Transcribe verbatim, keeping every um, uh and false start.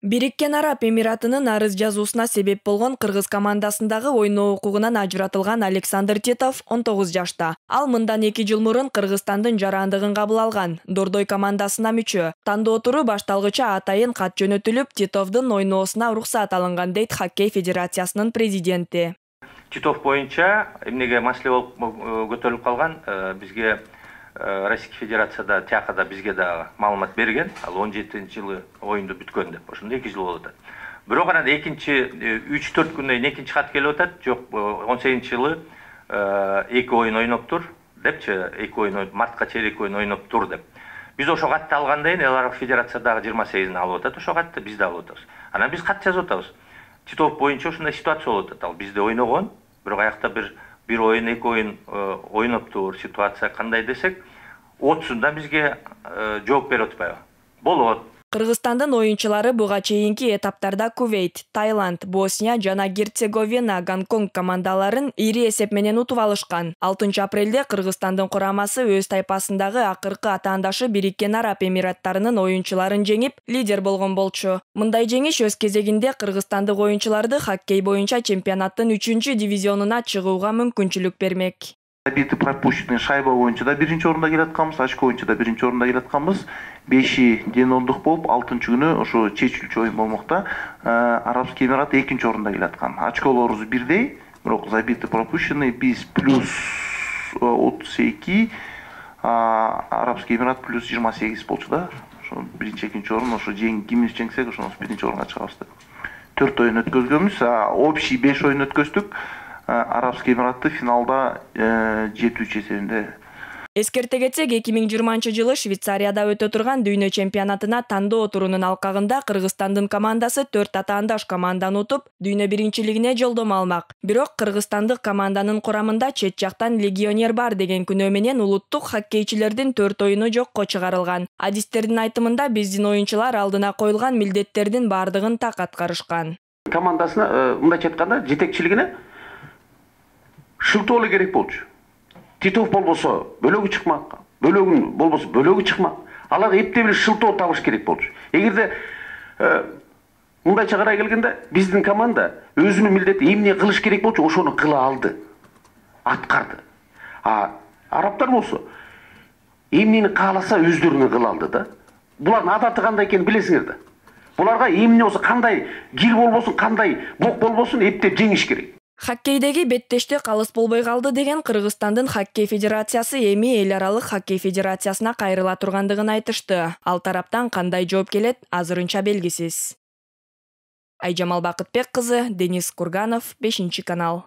Бириккен Араб Эмиратынын арыз жазуусуна себеп болгон кыргыз командасындагы ойноо укугунан ажыратылган Александр Титов он тогуз жашта. Ал мындан эки жыл мурун Кыргызстандын жарандыгын кабыл алган. Дордой командасына мүчө. Тандоо туру башталгыча атайын кат жөнөтүлүп, Титовдун ойноосуна уруксат алынган дейт Хоккей федерациясынын президенти. Титов боюнча эмнеге маселе болуп көтөрүлүп калган, бизге Российский Федерацияда тиякада бизге да маалымат берген. Ал он жетинчи жылы оюнду бүткөн деп. Ошондо эки жыл болуп атат. Бирок анан экинчи үч төрт күндөн кийин экинчи кат келип атат. Жок, он сегизинчи жылы эки оюн ойноптур депчи, эки оюн мартка чейин эки оюн ойноптур деп. Биз ошо катты алгандан кийин эл аралык федерациядагы жыйырма сегизини алып атат, ошо катты биз да алып атабыз. Анан биз кат жазып атабыз. Титов боюнча ушундай ситуация болуп атат. Ал бизде ойногон, бирок аякта бир бир оюн, эки оюн ойноптур, ситуация кандай десек, отузунда бизге жооп берип атпайбы? Болот. Кыргызстандын оюнчулары буга чейинки этаптарда Кувейт, Таиланд, Босния жана Герцеговина, Гонконг командаларын ири эсеп менен утуп алышкан. алтынчы апрелде Кыргызстандын курамасы өз тайпасындагы акыркы атаандашы Бириккен Араб Эмираттарынын оюнчуларын жеңип, лидер болгон болчу. Мындай жеңиш өз кезегинде кыргызстандык оюнчуларды хоккей боюнча чемпионаттын үчүнчү дивизионуна чыгууга мүмкүнчүлүк бермек. Забиты пропущенный шайба боюнча да биринчи орунда келатканбыз, очко боюнча да биринчи орунда келатканбыз. беши ден ондук болуп, алтынчы күнү ошо чечилчү оюн болмокта Арабский Эмират экинчи орунда келаткан. Очколорубуз бирдей, бирок забиты пропущенный биз плюс отуз эки, Арабский Эмират плюс жыйырма сегиз болчу да. Ошо биринчи, экинчи орун ошо жең кимибиз жеңсек, ошону биринчи орунга чыгабыз деп. төрт оюн өткөзгөнбүз, общий беш оюн өткөздүк. Арабский Эмиратты финалда жети үч эсебинде. Эскерте кетсек, эки миң жыйырманчы жылы Швейцарияда өтө турган дүйнө чемпионатына тандоо турунун алкагында Кыргызстандын командасы төрт атаандаш команданы утуп, дүйнө биринчилигине жолдомо алмак. Бирок кыргызстандык команданын курамында чет жактан легионер бар деген күнөө менен улуттук хоккейчилердин төрт оюну жокко чыгарылган. Адистердин айтымында биздин оюнчулар алдына коюлган милдеттердин бардыгын так аткарышкан. Командасына мындайча айтканда жетекчилигине шылтоолу керек болчу. Титов болбосо бөлөгү чыкмак, бөлөгүн болбосо бөлөгү чыкмак. Алар эптеп эле шылтоо табыш керек болчу. Эгерде мындайча карай келгенде биздин команда өзүнүн милдети эмне кылыш керек болчу, ошону кыла алды, аткарды. А арабтар болсо эмнени кааласа өздөрүнө кыла алды да. Булардын адаты кандай экенин билесиңер да. Буларга эмне болсо, кандай кир болбосун, кандай бок болбосун эптеп жеңиш керек. Хоккейдеги беттештик алыс болбой калды деген Кыргызстандын Хоккей федерациясы эми эл аралык Хоккей федерациясына кайрыла тургандыгын айтышты. Ал тараптан кандай жооп келет, азырынча белгисиз. Айжамал Бакытбек кызы, Денис Курганов, бешинчи канал.